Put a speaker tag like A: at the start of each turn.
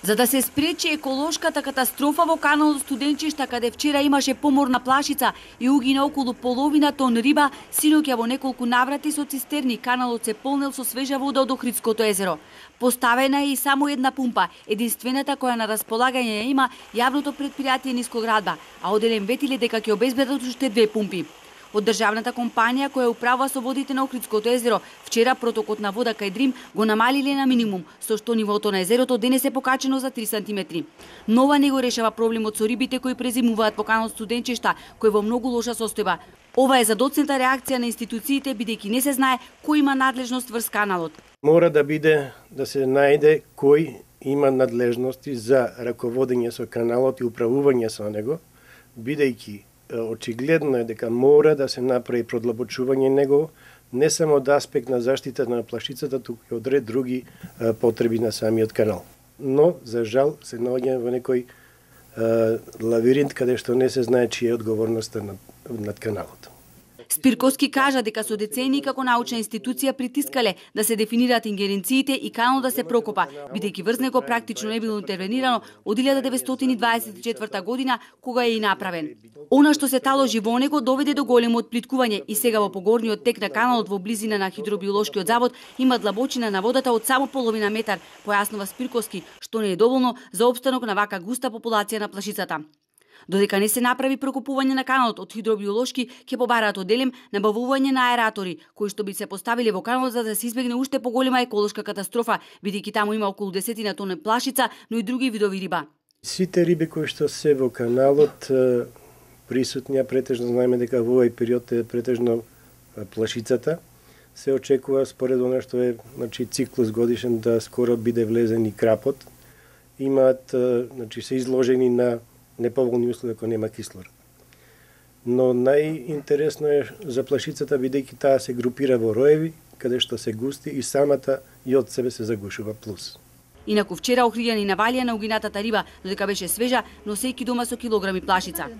A: За да се спречи еколошката катастрофа во каналот Студенчишта, каде вчера имаше поморна плашица и угина околу половина тон риба, синоќа во неколку наврати со цистерни каналот се полнел со свежа вода од Охридското езеро. Поставена е и само една пумпа, единствената која на располагање има јавното предпријатие Нискоградба, а оделен ветиле дека ќе обезбедат уште 2 пумпи. Од државната компанија која управува со водите на Охридското езеро, вчера протокот на вода кај Дрим го намалиле на минимум, со што нивото на езерото денес е покачено за 3 сантиметри. Но ова не го решава проблемот со рибите кои презимуваат во каналот Студенчишта, кој во многу лоша состојба. Ова е задоцната реакција на институциите, бидејќи не се знае кој има надлежност врз каналот.
B: Мора да биде да се најде кој има надлежности за раководење со каналот и управување со него, бидејќи очигледно е дека мора да се направи продлабочување него, не само од аспект на заштита на плашицата, туку и од ред други потреби на самиот канал. Но, за жал, се наоѓаме во некој лавиринт каде што не се знае чија е одговорноста над каналот.
A: Спирковски кажа дека со децении како научна институција притискале да се дефинираат ингеренциите и канал да се прокопа, бидејќи врз него практично не било интервенирано од 1924 година кога е и направен. Она што се таложи во него доведе до големо отплиткување и сега во погорниот тек на каналот во близина на хидробиолошкиот завод има длабочина на водата од само половина метар, појаснува Спирковски, што не е доволно за опстанок на вака густа популација на плашицата. Додека не се направи прокопување на каналот од хидробиолошки, ќе побараат оделем набавување на аератори, кои што би се поставиле во каналот за да се избегне уште поголема еколошка катастрофа, бидејќи таму има околу 10 тони плашица, но и други видови риба.
B: Сите риби кои што се во каналот присутни, претежно знаеме дека во овој период е претежно плашицата, се очекува според она што е циклус годишен да скоро биде влезен и крапот. Имаат, се изложени на неповолни услови ако нема кислород. Но најинтересно е за плашицата бидејќи таа се групира во роеви, каде што се густи и самата и од себе се загушува плюс.
A: Инаку вчера охриѓани навалија на угинатата риба, додека беше свежа, носејќи дома со килограми плашица.